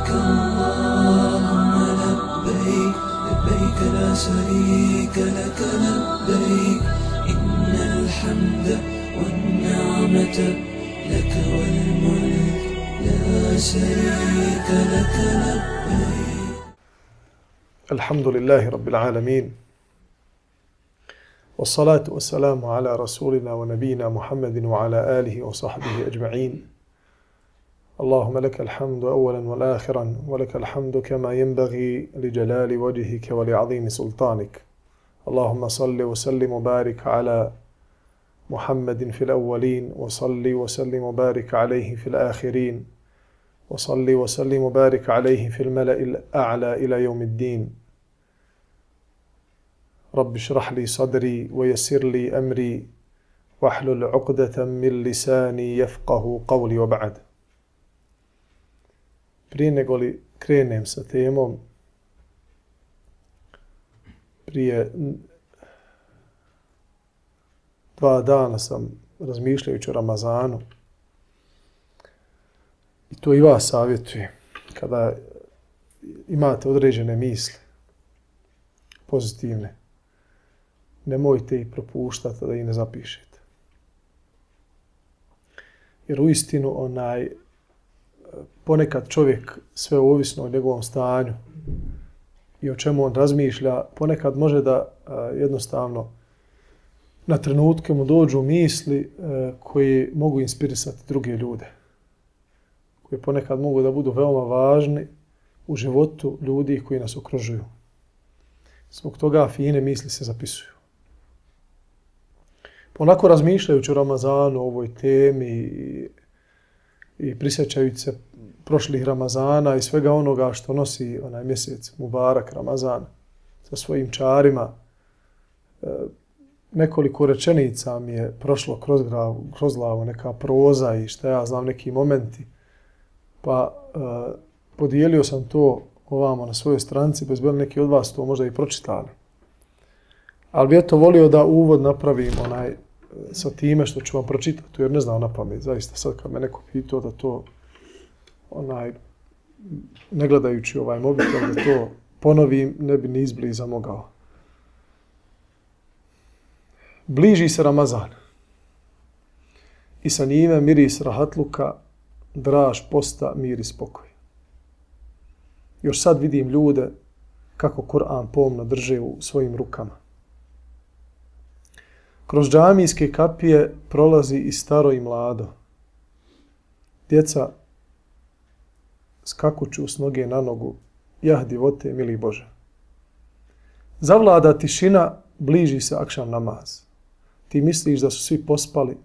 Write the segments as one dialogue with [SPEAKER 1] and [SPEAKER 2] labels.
[SPEAKER 1] لبيك اللهم لبيك لبيك لا شريك لك لبيك إن الحمد والنعمة لك والملك لا شريك لك لبيك.
[SPEAKER 2] الحمد لله رب العالمين والصلاة والسلام على رسولنا ونبينا محمد وعلى آله وصحبه أجمعين. اللهم لك الحمد أولا والآخرا ولك الحمد كما ينبغي لجلال وجهك ولعظيم سلطانك. اللهم صل وسلم وبارك على محمد في الأولين وصل وسلم وبارك عليه في الآخرين وصل وسلم وبارك عليه في الملأ الأعلى إلى يوم الدين. رب اشرح لي صدري ويسر لي أمري واحلل عقدة من لساني يفقه قولي وبعد. Prije nego li krenem sa temom, prije 2 dana sam razmišljajući o Ramazanu i to i vas savjetujem kada imate određene misli pozitivne, nemojte ih propuštati da ih ne zapišete. Jer uistinu ponekad čovjek, sve ovisno o njegovom stanju i o čemu on razmišlja, ponekad može da jednostavno na trenutke mu dođu misli koji mogu inspirisati druge ljude, koji ponekad mogu da budu veoma važni u životu ljudi koji nas okružuju. Zbog toga fine misli se zapisuju. Onako razmišljajući o Ramazanu, o ovoj temi i prisjećajući se prošlih Ramazana i svega onoga što nosi onaj mjesec Mubarak Ramazan sa svojim čarima, nekoliko rečenica mi je prošlo kroz glavu, neka proza i šta ja znam, neki momenti. Pa podijelio sam to ovamo na svojoj stranici, bez bilo neki od vas to možda i pročitali. Ali bi eto volio da uvod napravim sa time što ću vam pročitati, jer ne znam na pamet, zaista sad kad me neko pitao da to ne gledajući ovaj mobitel, da to ponovim, ne bi ni izbliza mogao. Bliži se Ramazan i sa njime miris rahatluka, draž posta, mir i spokoj. Još sad vidim ljude kako Kur'an pomno drže u svojim rukama. Kroz džamijske kapije prolazi i staro i mlado. Djeca skakuću s noge na nogu, jah divote, mili Bože. Zavlada tišina, bliži se akšam namaz. Ti misliš da su svi pospali,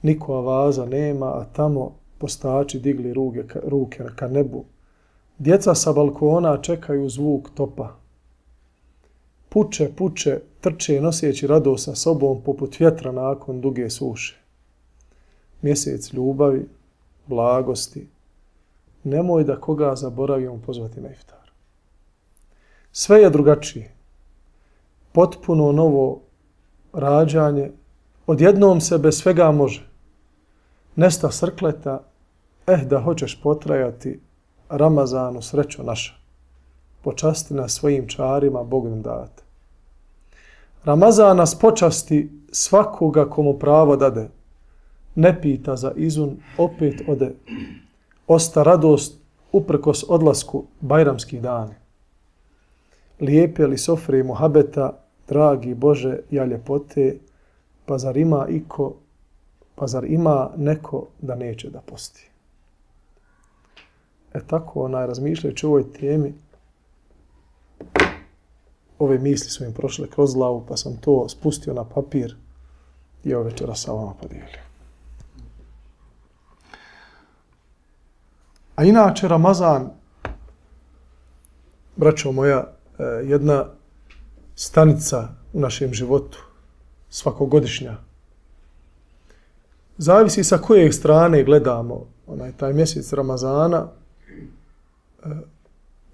[SPEAKER 2] niko avaza nema, a tamo postači digli ruke ka nebu. Djeca sa balkona čekaju zvuk topa. Puče, trče noseći radost sa sobom poput vjetra nakon duge suše. Mjesec ljubavi, blagosti. Nemoj da koga zaboravimo pozvati na iftar. Sve je drugačije. Potpuno novo rađanje. Odjednom se bez svega može. Nesta srkleta, da hoćeš potrajati, Ramazanu srećo naša. Počasti nas svojim čarima, Bog nam date. Ramazan nas počasti svakoga komu pravo dade. Ne pita za izun, opet ode. Osta radost uprkos odlasku bajramskih dana. Lijepe li sofre i muhabeta, dragi Bože, ja ljepote, pa zar ima neko da neće da posti. Tako razmišljajući o ovoj temi, ove misli su im prošle kroz glavu, pa sam to spustio na papir i ove večera sa vama podijelio. A inače Ramazan, braćo moja, jedna stanica u našem životu, svakogodišnja. Zavisi sa koje strane gledamo taj mjesec Ramazana.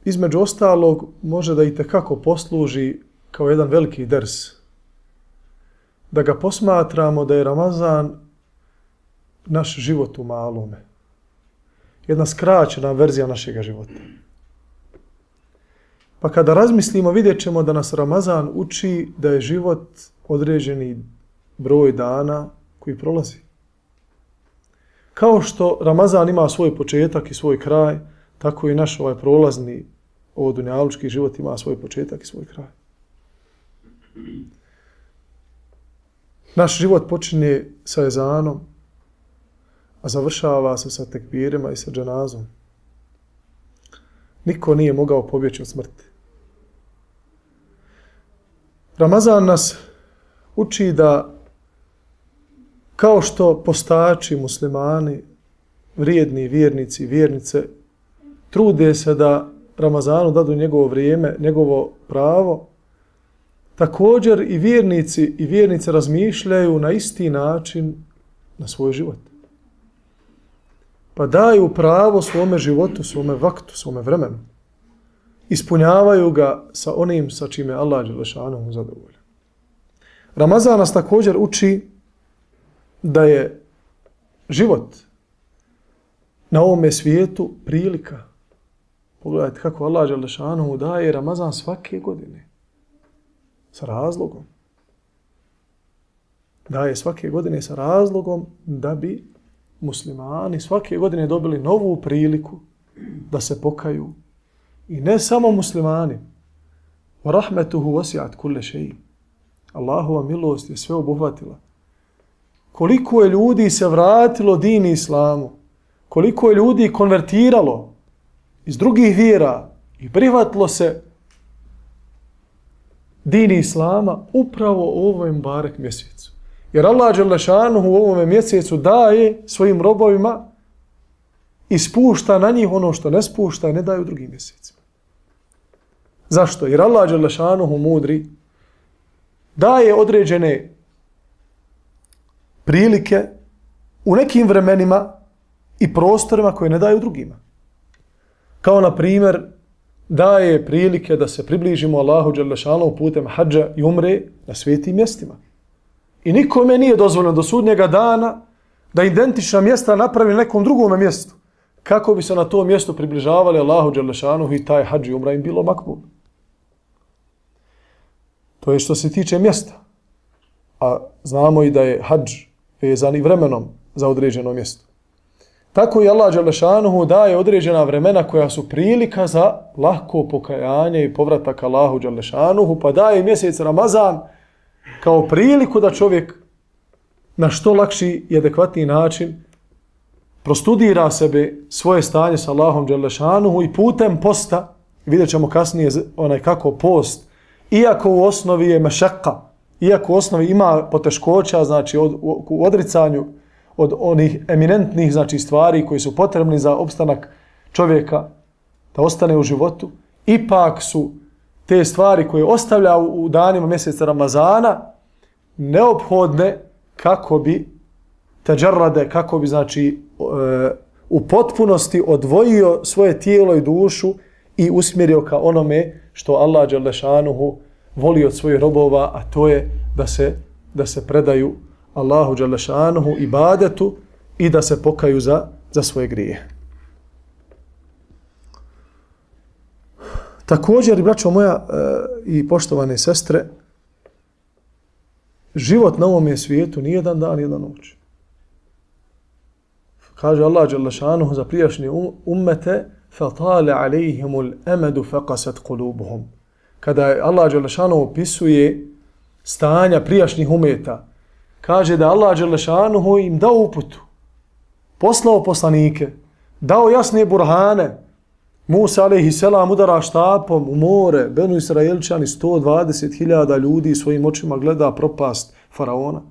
[SPEAKER 2] Između ostalog može da itekako posluži kao jedan veliki ders. Da ga posmatramo da je Ramazan naš život u malome. jedna skraćena verzija našeg života. Pa kada razmislimo, vidjet ćemo da nas Ramazan uči da je život određeni broj dana koji prolazi. Kao što Ramazan ima svoj početak i svoj kraj, tako i naš ovaj prolazni dunjalučki život ima svoj početak i svoj kraj. Naš život počinje sa ezanom, a završava se sa tekbirima i sa dženazom. Niko nije mogao pobjeći od smrti. Ramazan nas uči da kao što postači muslimani, vrijedni vjernici i vjernice, trude se da Ramazanu dadu njegovo vrijeme, njegovo pravo, također i vjernici i vjernice razmišljaju na isti način na svoj život. Pa daju pravo svome životu, svome vaktu, svome vremenu. Ispunjavaju ga sa onim sa čime Allah dželešanu zadovolja. Ramazan nas također uči da je život na ovome svijetu prilika. Pogledajte kako Allah dželešanu daje Ramazan svake godine. Sa razlogom. Daje svake godine sa razlogom da bi muslimani svake godine dobili novu priliku da se pokaju. I ne samo muslimani. Wa rahmetuhu wasi'at kulle šeji. Allahova milost je sve obuhvatila. Koliko je ljudi se vratilo dini islamu, koliko je ljudi konvertiralo iz drugih vjera i prihvatilo se dini islama upravo u ovom barek mjesecu. Jer Allah dželešanuhu u ovom mjesecu daje svojim robovima i spušta na njih ono što ne spušta i ne daje u drugim mjesecima. Zašto? Jer Allah dželešanuhu mudri daje određene prilike u nekim vremenima i prostorima koje ne daju drugima. Kao na primjer daje prilike da se približimo Allahu dželešanuhu putem hadža i umre na svetim mjestima. I nikome nije dozvoljeno do sudnjega dana da identična mjesta napravi na nekom drugom mjestu. Kako bi se na tom mjestu približavali Allahu dželešanuhu i taj hadž i umra im bilo makbul. To je što se tiče mjesta. A znamo i da je hadž vezan i vremenom za određeno mjesto. Tako i Allah dželešanuhu daje određena vremena koja su prilika za lahko pokajanje i povratak Allahu dželešanuhu, pa daje mjesec Ramazan kao priliku da čovjek na što lakši i adekvatniji način prostudira sebe, svoje stanje sa Allahom dželešanuhu i putem posta, vidjet ćemo kasnije kako post, iako u osnovi je mešaka, iako u osnovi ima poteškoća, znači u odricanju od onih eminentnih znači stvari koji su potrebni za opstanak čovjeka da ostane u životu, ipak su te stvari koje ostavlja u danima mjeseca Ramazana neophodne kako bi teđarrade, kako bi znači u potpunosti odvojio svoje tijelo i dušu i usmjerio ka onome što Allah dželešanuhu voli od svojih robova, a to je da se predaju Allahu dželešanuhu ibadetu i da se pokaju za svoje grije. Također, braćo moja i poštovane sestre, život na ovom svijetu nije jedan dan, jedna noć. Kaže Allah dželešanuhu za prijašnje ummete فَطَالَ عَلَيْهِمُ الْأَمَدُ فَقَسَتْ قُلُوبُهُمْ. Kada Allah dželešanuhu opisuje stanja prijašnjih umeta, kaže da Allah dželešanuhu im dao uputu, poslao poslanike, dao jasne burhane. Musa alejhiselam udara štapom u more, Benu Israelčani 120.000 ljudi svojim očima gleda propast faraona.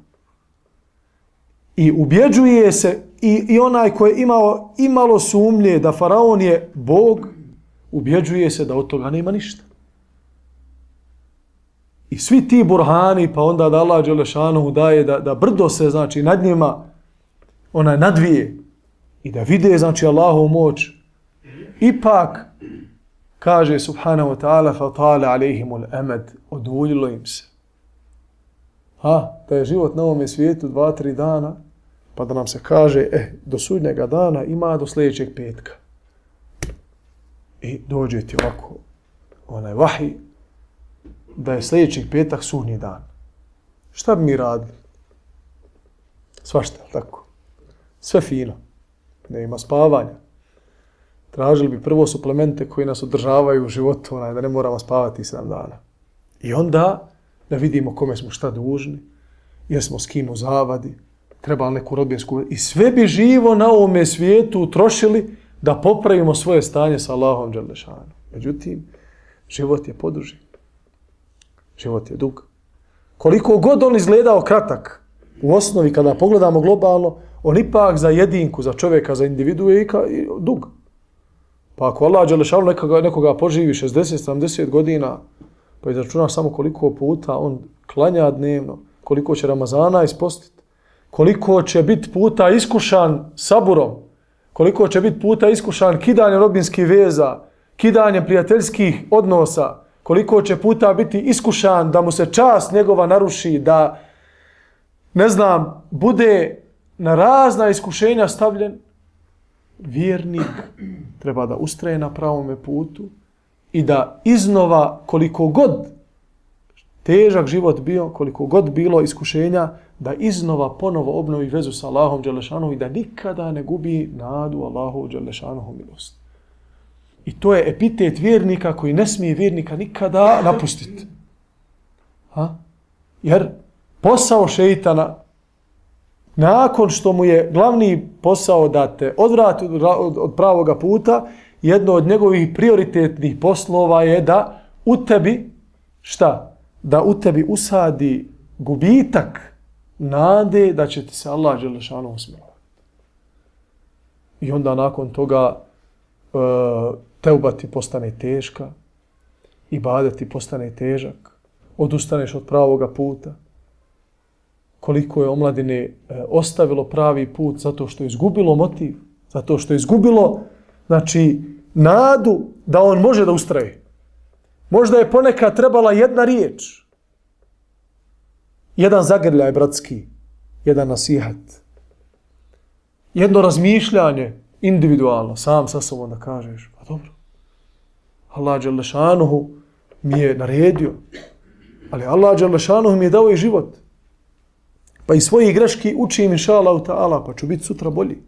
[SPEAKER 2] I ubjeđuje se i onaj koji je imao imalo sumnje da faraon je Bog, ubjeđuje se da od toga nema ništa. I svi ti burhani, pa onda da Allah dželešanuhu daje da brdo se znači nad njima nadvije i da vide znači Allahovu moć. Ipak, kaže subhanahu wa ta'ala, فَطَالَ عَلَيْهِمُ الْأَمَدْ, oduljilo im se. Da je život na ovome svijetu 2-3 dana, pa da nam se kaže, do sudnjega dana ima do sljedećeg petka. I dođe ti ovako, onaj vahij, da je sljedećeg petak sudnji dan. Šta bi mi radili? Svašta, tako. Sve fino. Ne ima spavanja. Tražili bi prvo suplemente koji nas održavaju u životu, da ne moramo spavati 7 dana. I onda da vidimo kome smo šta dužni, jer smo s kim u zavadi, treba neku rodbinsku... I sve bi živo na ovome svijetu utrošili da popravimo svoje stanje sa Allahom dželešanom. Međutim, život je poduži. Život je dug. Koliko god on izgledao kratak, u osnovi kada pogledamo globalno, on ipak za jedinku, za čovjeka, za individu je dug. Pa ako Allah dželešanu nekoga poživi 60-70 godina, pa izračunaš samo koliko puta on klanja dnevno, koliko će Ramazana ispostiti, koliko će biti puta iskušan saburom, koliko će biti puta iskušan kidanjem rodbinskih veza, kidanjem prijateljskih odnosa, koliko će puta biti iskušan da mu se čast njegova naruši, da, ne znam, bude na razna iskušenja stavljen, vjernik treba da ustraje na pravome putu i da iznova, koliko god težak život bio, koliko god bilo iskušenja, da iznova ponovo obnovi vezu sa Allahom dželešanom i da nikada ne gubi nadu Allahu dželešanom milost. I to je epitet vjernika koji ne smije vjernika nikada napustiti. Jer posao šeitana, nakon što mu je glavni posao da te odvrati od pravoga puta, jedno od njegovih prioritetnih poslova je da u tebi, šta? Da u tebi usadi gubitak nade da će ti se Allah dželešanu smilovati. I onda nakon toga teuba ti postane teška, ibadet ti postane težak, odustaneš od pravoga puta. Koliko je omladine ostavilo pravi put zato što je izgubilo motiv, zato što je izgubilo, znači, nadu da on može da ustraje. Možda je ponekad trebala jedna riječ, jedan zagrljaj bratski, jedan nasihat, jedno razmišljanje individualno, sam sa sobom da kažeš, pa dobro, Allah dželešanuhu mi je naredio, ali Allah dželešanuhu mi je dao i život. Pa i svoje greški učim, inša Allah ta'ala, pa ću biti sutra bolji.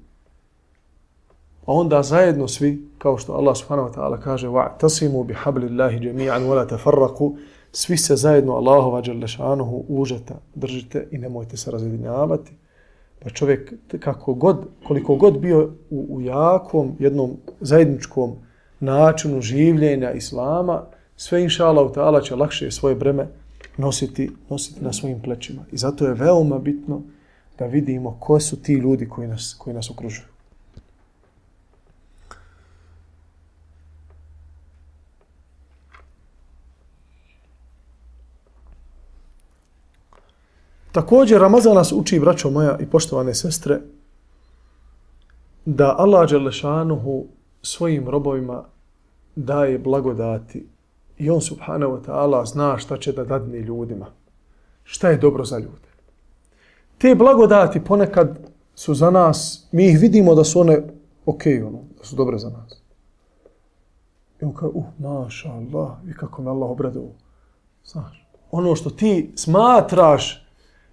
[SPEAKER 2] A onda zajedno svi, kao što Allah subhanahu wa ta'ala kaže, وَعْتَصِمُوا بِحَبْلِ اللَّهِ جَمِيعًا وَلَا تَفَرَّقُوا, svi se zajedno Allahova dželešanuhu užeta držite i nemojte se razjedinjavati. Pa čovjek koliko god bio u jakom, jednom zajedničkom načinu življenja Islama, sve inša Allah ta'ala će lakše svoje breme nositi na svojim plećima. I zato je veoma bitno da vidimo ko su ti ljudi koji nas okružuju. Također, Ramazan nas uči, braćo moja i poštovane sestre, da Allah dželešanuhu svojim robovima daje blagodati i on subhanahu wa ta'ala zna šta će da dadne ljudima. Šta je dobro za ljude. Te blagodati ponekad su za nas, mi ih vidimo da su one da su dobre za nas. I on kaže, maša Allah, i kako me Allah obradao. Znaš, ono što ti smatraš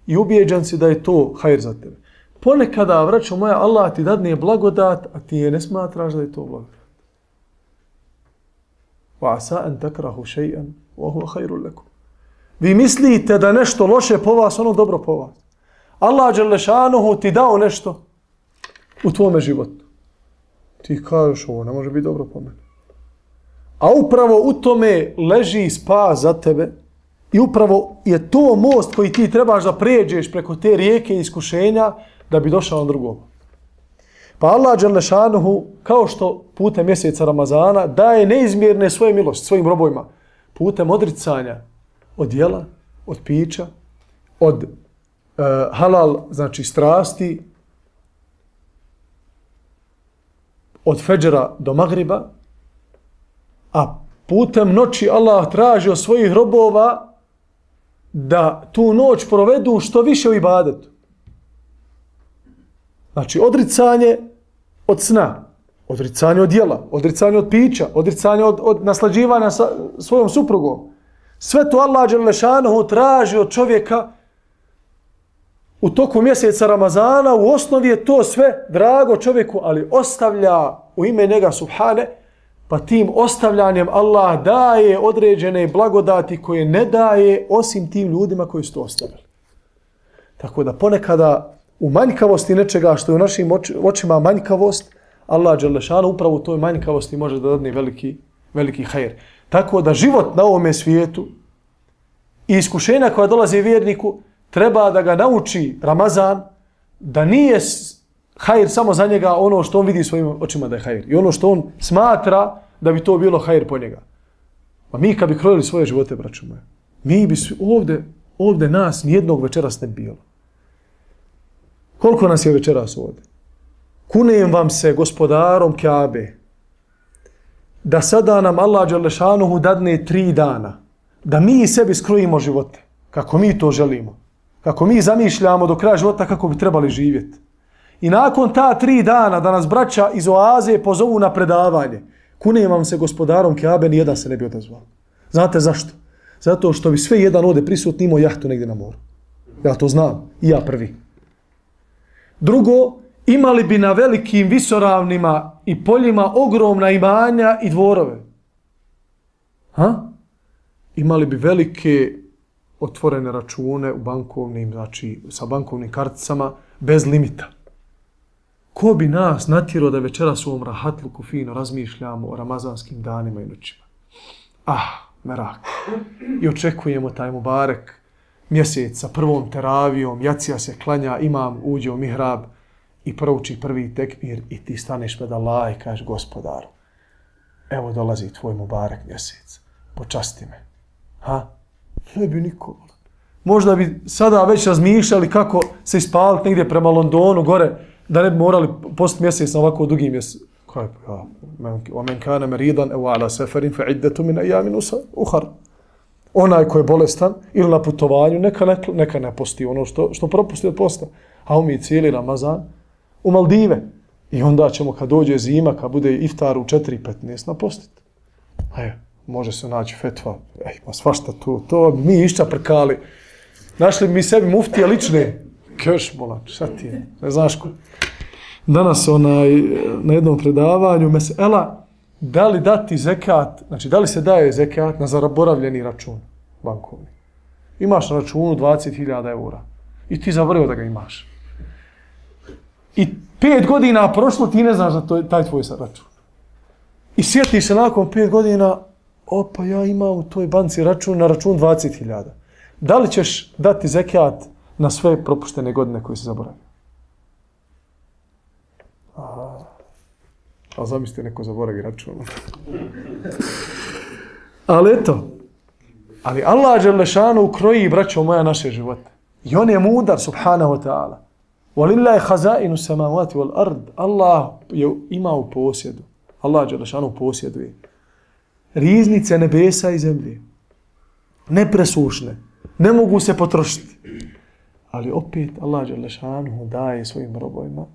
[SPEAKER 2] i ubijeđan si da je to hajr za tebe. Ponekada, vraćo moja, Allah ti dadne blagodat, a ti je ne smatraš da je to blagodat. وَعَسَا أَنْ تَكْرَهُ شَيْئًا وَهُوَ خَيْرٌ لَكُمْ. Vi mislite da nešto loše po vas, ono dobro po vas. Allah dželešanuhu ti dao nešto u tvome životu. Ti kažeš, ovo ne može biti dobro po mene. A upravo u tome leži spas za tebe i upravo je to most koji ti trebaš da pređeš preko te rijeke iskušenja da bi došao na drugom. Pa Allah dželešanuhu, kao što putem mjeseca Ramazana, daje neizmjerne svoje milosti svojim robovima. Putem odricanja od jela, od pića, od halal, znači strasti, od fedžera do magriba, a putem noći Allah traži od svojih robova da tu noć provedu što više u ibadetu. Znači, odricanje od sna, odricanje od jela, odricanje od pića, odricanje od naslađivanja sa svojom suprugom. Sve to Allah dželešanohu traži od čovjeka u toku mjeseca Ramazana. U osnovi je to sve drago čovjeku, ali ostavlja u ime njega subhane, pa tim ostavljanjem Allah daje određene blagodati koje ne daje osim tim ljudima koji su to ostavili. Tako da ponekada u manjkavosti nečega što je u našim očima manjkavost, Allah dželešanu upravo u toj manjkavosti može da dadne veliki hajr. Tako da život na ovome svijetu i iskušenja koja dolaze vjerniku treba da ga nauči Ramazan da nije hajr samo za njega ono što on vidi svojim očima da je hajr i ono što on smatra da bi to bilo hajr po njega. A mi kad bi krojili svoje živote, braćo moje, mi bi ovdje nas nijednog večeras ne bilo. Koliko nas je večeras ovdje? Kunem vam se gospodarom Kjabe da sada nam Allah dželešanuhu dadne 3 dana da mi sebi skrojimo živote kako mi to želimo, kako mi zamišljamo do kraja života kako bi trebali živjeti. I nakon ta 3 dana da nas braća iz oaze pozovu na predavanje, kunem vam se gospodarom Kjabe, nijedan se ne bi odazvao. Znate zašto? Zato što bi sve jedan ovdje prisutni imao jahtu negdje na moru. Ja to znam, i ja prvi. Drugo, imali bi na velikim visoravnima i poljima ogromna imanja i dvorove. Imali bi velike otvorene račune u bankovnim, znači sa bankovnim karticama bez limita. Ko bi nas natjerao da večeras u ovom rahatluku fino razmišljamo o ramazanskim danima i noćima? Merak. I očekujemo taj mubarek mjesec sa prvom teravijom, jacija se klanja, imam uđe u mihrab i prouči prvi tekbir i ti staneš pred Allah i kažeš gospodaru, evo dolazi tvoj mubarek mjesec, počasti me. Ne bi niko. Možda bi sada već razmišljali kako se ispaliti negdje prema Londonu gore, da ne bi morali postiti mjesec na ovako dugi mjesec. وَمَنْ كَانَ مَرِيضًا أَوْ عَلَى سَفَرٍ فَعِدَّةٌ مِنْ أَيَّامٍ أُخَرَ. Onaj ko je bolestan ili na putovanju, neka ne posti ono što propusti od posta. A mi cijeli Ramazan u Maldive. I onda ćemo kad dođe zima, kad bude iftar u 4:15 napostiti. Može se naći fetva. Ma svašta to mi iščaprkali. Našli mi sebi muftije lične. Keš bolan, šta ti je? Ne znaš ko. Danas na jednom predavanju mesela, da li dati zekat, znači da li se daje zekat na zaboravljeni račun bankovni. Imaš na računu 20.000 eura i ti zaboravio da ga imaš. I 5 godina prošlo, ti ne znaš da taj tvoj račun. I sjetiš se nakon 5 godina, ja imam u toj banci račun na račun 20.000. Da li ćeš dati zekat na sve propuštene godine koje si zaboravio? Ali zamislite, neko zaboravi račun. Ali eto, Allah dželešanu kroji, braćo moja, naše živote. I on je mudar, subhanahu wa ta'ala. وَلِلَّهِ خَزَائِنُ السَّمَاوَاتِ وَالْأَرْضِ. Allah je imao u posjedu. Allah dželešanu posjeduje riznice nebesa i zemlje. Nepresušne. Ne mogu se potrošiti. Ali opet Allah dželešanu daje svojim robovima.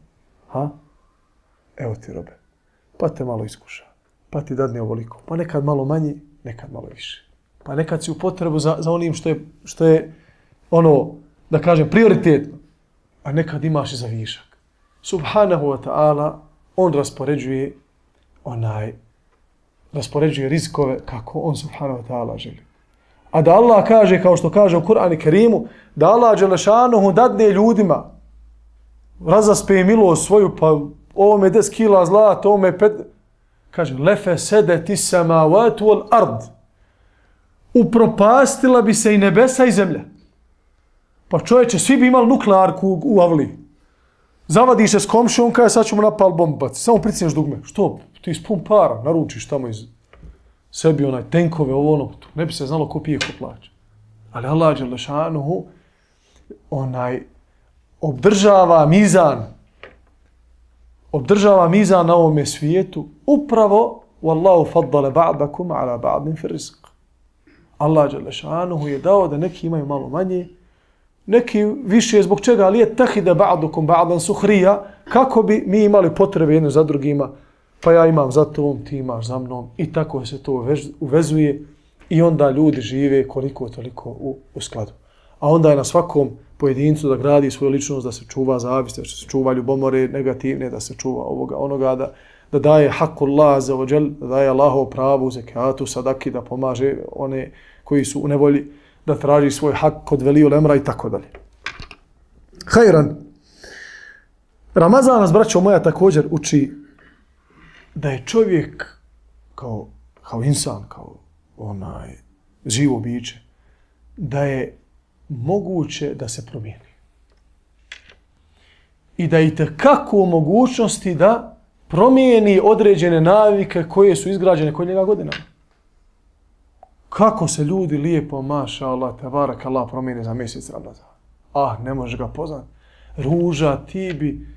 [SPEAKER 2] Evo ti robe. Pa te malo iskuša. Pa ti dadne ovoliko. Pa nekad malo manje, nekad malo više. Pa nekad si u potrebu za onim što je ono, da kažem, prioritetno. A nekad imaš i za višak. Subhanahu wa ta'ala, on raspoređuje rizikove kako on subhanahu wa ta'ala želi. A da Allah kaže, kao što kaže u Kur'anu i Kerimu, da Allah dželešanuhu dadne ljudima, razaspe milost svoju, pa ovome 10 kila zlata, ovome 5... Kaže, lefe sedeti samavatu wal ard. Upropastila bi se i nebesa i zemlja. Pa čovječe, svi bi imali nuklearku u avliji. Zavadiš se s komšijom, kada sad ćemo napal bombaci. Samo pricneš dugme. Što? Ti ispun para, naručiš tamo iz sebi tenkove, ne bi se znalo ko pije, ko plaća. Ali Allah dželešanuhu obdržava mizan na ovome svijetu upravo wallahu faddala ba'dakum ala ba'din fi rizq. Allah dželešanuhu je dao da neki imaju malo manje neki više zbog čega, ali je tahide ba'dukum ba'dan suhrija, kako bi mi imali potrebe jedno za drugima, pa ja imam za tom, ti imaš za mnom, i tako se to uvezuje i onda ljudi žive koliko toliko u skladu. A onda je na svakom pojedincu da gradi svoju ličnost, da se čuva zavist, da se čuva ljubomore negativne, da se čuva ovoga, onoga, da daje hakullah za ođel, da daje Allahov pravu, zekatu, sadaki, da pomaže one koji su u nevolji, da traži svoj hak kod veliju lemra i tako dalje. Hajran. Ramazan nas, braćo moja, također uči da je čovjek kao insan, kao živo biće, da je moguće da se promijeni. I da je itekako u mogućnosti da promijeni određene navike koje su izgrađene kod njega godinama. Kako se ljudi lijepo, maša Allah, tebarak Allah, promijene za mjesec Ramazana. Ne možeš ga poznati. Ruža, ti bi,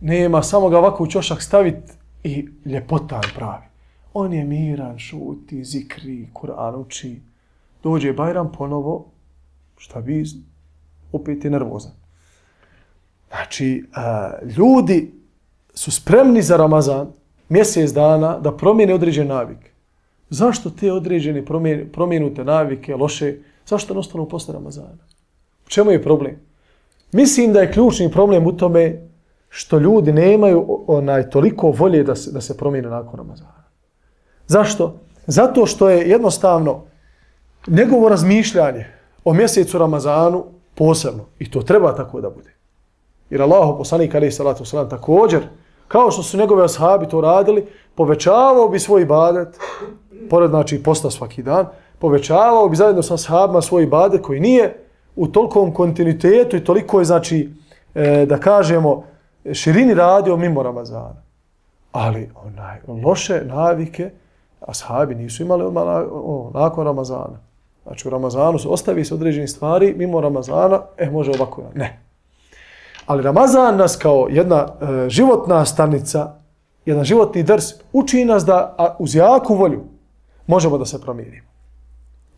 [SPEAKER 2] nema, samo ga ovako u ćošak staviti i ljepotan pravi. On je miran, šuti, zikri, Kur'an uči. Dođe Bajram ponovo, šta bi, opet je nervozan. Znači, ljudi su spremni za Ramazan mjesec dana da promijene određene navike. Zašto te određene promijenute navike, loše, zašto ne ostanu posle Ramazana? U čemu je problem? Mislim da je ključni problem u tome što ljudi nemaju toliko volje da se promijene nakon Ramazana. Zašto? Zato što je jednostavno njegovo razmišljanje o mjesecu Ramazanu posebno. I to treba tako da bude. Jer Allahov poslanik alejhi salatu vesselam također, kao što su njegove ashabi to radili, povećavao bi svoj ibadet, pored znači posta svaki dan, povećavao bi zajedno sa ashabima svoj ibadet koji nije u tolikom kontinuitetu i toliko je, znači, da kažemo, širini radio mimo Ramazana. Ali loše navike ashabi nisu imali nakon Ramazana. Znači u Ramazanu ostavi se određeni stvari, mimo Ramazana, može ovako. Ne. Ali Ramazan nas kao jedna životna stanica, jedan životni drs, uči nas da uz jaku volju možemo da se promijenimo.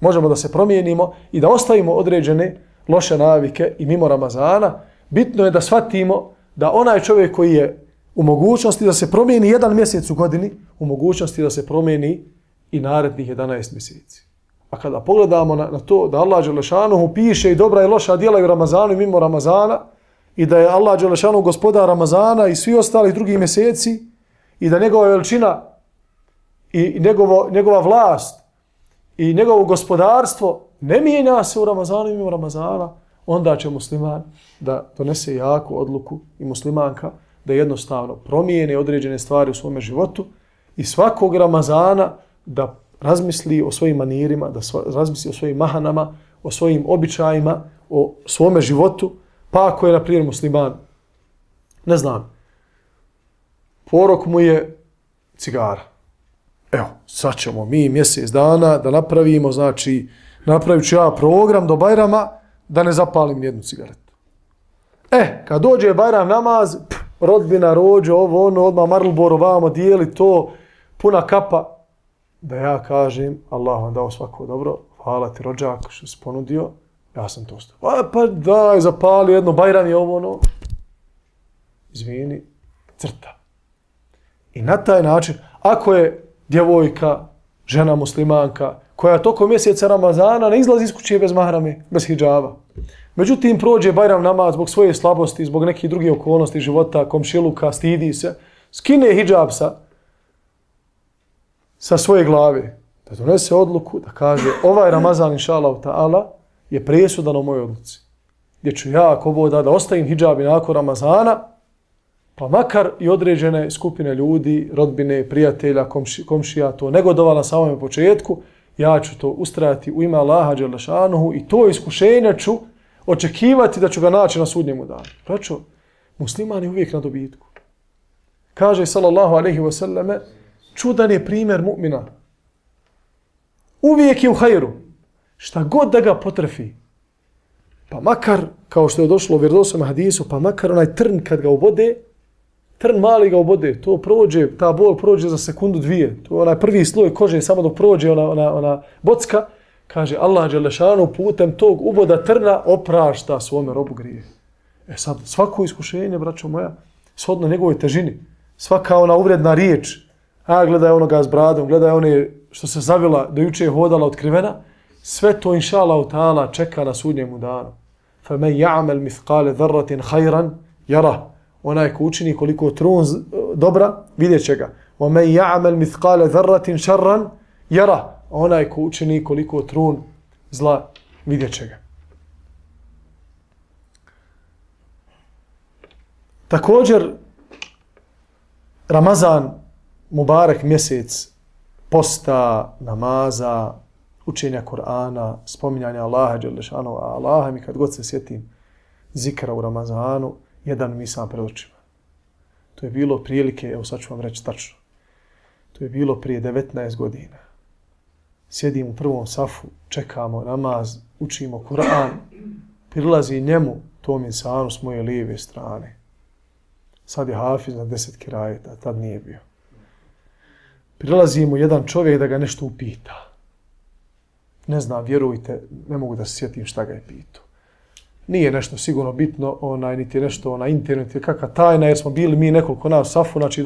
[SPEAKER 2] Možemo da se promijenimo i da ostavimo određene loše navike i mimo Ramazana. Bitno je da shvatimo da onaj čovjek koji je u mogućnosti da se promijeni jedan mjesec u godini, u mogućnosti da se promijeni i narednih 11 mjeseci. A kada pogledamo na to da Allah dželešanuhu piše i dobra i loša djela i u Ramazanu i mimo Ramazana, i da je Allah dželešanuhu gospodar Ramazana i svi ostalih drugih mjeseci, i da njegova veličina i njegova vlast i njegovo gospodarstvo ne mijenja se u Ramazanu i mimo Ramazana, onda će musliman da donese jaku odluku i muslimanka da jednostavno promijene određene stvari u svome životu i svakog Ramazana da razmisli o svojim manirima, da razmisli o svojim mahanama, o svojim običajima, o svome životu. Pa ako je, na primjer, musliman, ne znam, porok mu je cigara. Evo, sad ćemo mi mjesec dana da napravimo, znači, napravit ću ja program do Bajrama da ne zapalim nijednu cigaretu. Kad dođe Bajram namaz, rodbina, rođe, ovo, ono, odmah Marlboro, vamo, dijeli to, puna kapa, da ja kažem, Allah vam dao svako dobro, hvala ti rođak što si ponudio, ja sam to stavio. Pa daj, zapali jedno, Bajram je ovo, ono. Izvini, crta. I na taj način, ako je djevojka, žena muslimanka, koja tokom mjeseca Ramazana ne izlazi iz kuće bez mahrame, bez hidžaba. Međutim, prođe Bajram namaz zbog svoje slabosti, zbog nekih drugih okolnosti života, komšiluka, stidi se, skine hidžab sa svoje glave, da donese odluku, da kaže ovaj Ramazan, inša Allah ta'ala, je presudan u mojoj odluci. Gdje ću ja, ako Bog da ostavim hidžab i nakon Ramazana, pa makar i određene skupine ljudi, rodbine, prijatelja, komšija, to negodova na samom početku, ja ću to ustrajati u ime Allaha dželešanuhu i to iskušenje ću očekivati da ću ga naći na sudnjemu danu. Braćo, musliman je uvijek na dobitku. Kaže sallallahu alejhi ve selleme, čudan je primjer mu'mina. Uvijek je u hajru. Šta god da ga potrefi. Pa makar, kao što je došlo u vjerodostojnom hadisu, pa makar onaj trn kad ga ubode, trn mali ga ubode, to prođe, ta bol prođe za sekundu, dvije. To je onaj prvi sloj kože, samo dok prođe ona bocka, Kaže, Allah dželešanu putem tog uboda trna oprašta svome robu grije. Sad, svako iskušenje, braćo moja, shodno njegovoj težini, svaka ona uvredna riječ, gledaj onoga s bradom, gledaj one što se zavila, do juče je hodala otkrivena, sve to, inša Allah ta'ala, čeka na sudnjemu danu. فَمَنْ يَعْمَلْ مِثْقَالَ ذَرَّةٍ خَيْرًا يَرَهُ. Onaj ko učini koliko trun dobra, vidjet će ga. وَمَنْ يَعْمَلْ مِثْقَالَ ذَرَّةٍ شَرًّا يَرَهُ. Onaj ko učini koliko trun zla, vidjet će ga. Također, Ramazan, Mubarek mjesec, posta, namaza, učenja Kur'ana, spominjanja Allaha dželešanu, a Allaha mi kad god se sjetim zikra u Ramazanu, jedan mi sam pred očima. To je bilo prilike, evo sad ću vam reći tačno, to je bilo prije 19 godina. Sjedim u prvom safu, čekamo namaz, učimo Kur'an, prilazi njemu tom insanu s moje lijeve strane. Sad je hafiz na 10 kirajeta, tad nije bio. Prilazi mu jedan čovjek da ga nešto upita. Ne znam, vjerujte, ne mogu da se sjetim šta ga je pitao. Nije nešto sigurno bitno, niti je nešto na internetu, kakva tajna, jer smo bili mi nekoliko nas u safu, znači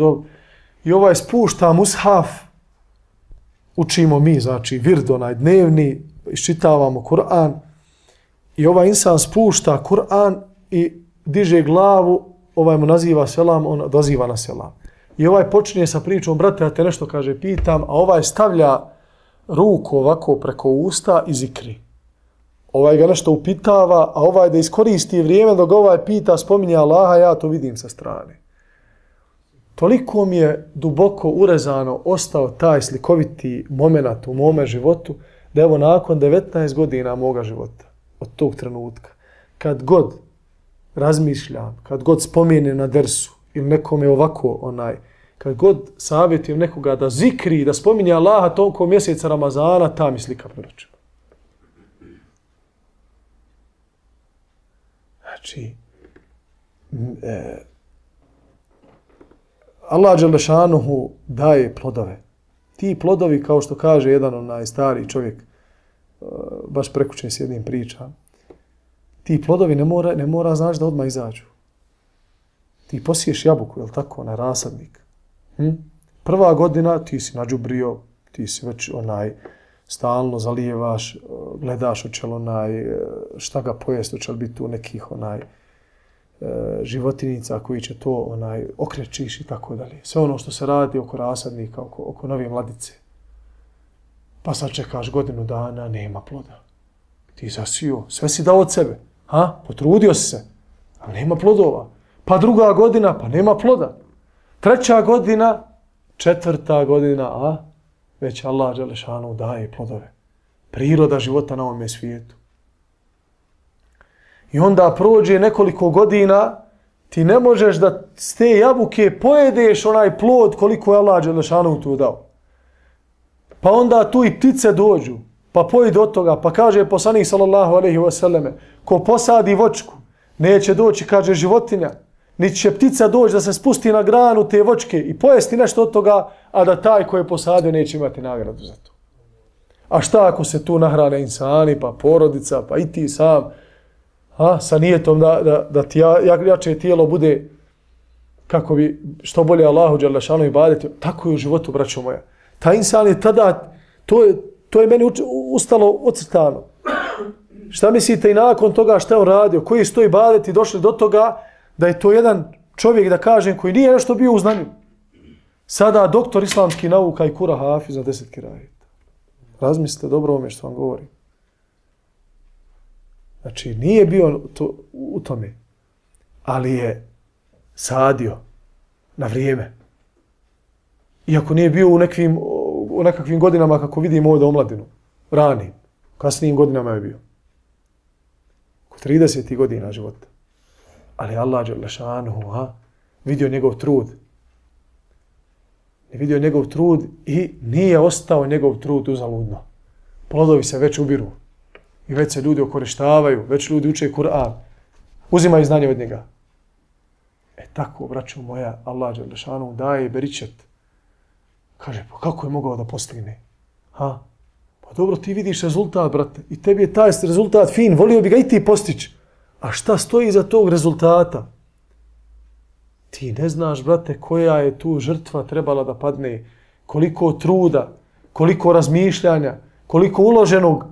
[SPEAKER 2] i ovaj spušta mushaf, učimo mi, znači vird dnevni, iščitavamo Kur'an i ovaj insan spušta Kur'an i diže glavu, ovaj mu naziva selam, on odaziva na selam. I ovaj počinje sa pričom, brate, ja te nešto kaže, pitam, a ovaj stavlja ruku ovako preko usta i zikri. Ovaj ga nešto upitava, a ovaj da iskoristi vrijeme dok ovaj pita, spominje Allaha, ja to vidim sa strane. Toliko mi je duboko urezano ostao taj slikoviti moment u mome životu, da evo nakon 19 godina moga života, od tog trenutka, kad god razmišljam, kad god spomenem na dersu, ili nekome ovako, kad god savjetujem nekoga da zikri, da spominje Allaha toliko mjeseca Ramazana, ta mi slika pred očima. Znači, Allah dželešanuhu daje plodove. Ti plodovi, kao što kaže jedan stariji čovjek, baš prekućen s jednim pričam, ti plodovi ne mora znači da odmah izađu. Ti posiješ jabuku, je li tako, na rasadnik. Prva godina ti si nađubrio, ti si već stalno zalijevaš, gledaš hoće li šta ga pojesti, hoće li biti tu nekih životinica koji će to okrećiš i tako dalje. Sve ono što se radi oko rasadnika, oko nove mladice. Pa sad čekaš godinu dana, nema ploda. Ti zasio, sve si dao od sebe. Potrudio si se, ali nema plodova. Pa druga godina, pa nema ploda. Treća godina, četvrta godina, već Allah dželešanu daje plodove. Priroda života na ovome svijetu. I onda prođe nekoliko godina, ti ne možeš da s te jabuke pojedeš onaj plod koliko je Allah dželešanu tu dao. Pa onda tu i ptice dođu, pa pojede od toga, pa kaže poslanik sallallahu alejhi ve selleme, ko posadi voćku, neće doći, kaže, životinja, niti će ptica doći da se spusti na granu te voćke i pojesti nešto od toga, a da taj koji je posadio neće imati nagradu za to. A šta ako se tu nahrane insani, pa porodica, pa i ti sam, sa nijetom da ti jače tijelo bude kako bi što bolje Allahu dželešanu ibadeti, tako je u životu, braćo moja. Ta insan je tada, to je meni ustalo ocrtano. Šta mislite i nakon toga šta je on radio, koji su to ibadeti došli do toga da je to jedan čovjek, da kažem, koji nije nešto bio u znanju. Sada doktor islamskih nauka i kura hafiz na 10 kirajeta. Razmislite dobro ome što vam govorim. Znači, nije bio u tome, ali je sadio na vrijeme. Iako nije bio u nekakvim godinama, kako vidimo ovdje omladinu, ranim, kasnijim godinama je bio. Oko 30 godina života. Ali Allah dželešanuhu vidio njegov trud. Vidio njegov trud i nije ostao njegov trud uzaludno. Plodovi se već ubiru. I već se ljudi okorištavaju, već ljudi uče Kur'an. Uzimaju znanje od njega. Tako, braćo moja, Allah dželešanuhu daje beričet. Kaže, pa kako je mogao da postigne? Pa Pa dobro, ti vidiš rezultat, brate, i tebi je taj rezultat fin, volio bi ga i ti postići. A šta stoji iza tog rezultata? Ti ne znaš, brate, koja je tu žrtva trebala da padne, koliko truda, koliko razmišljanja, koliko uloženog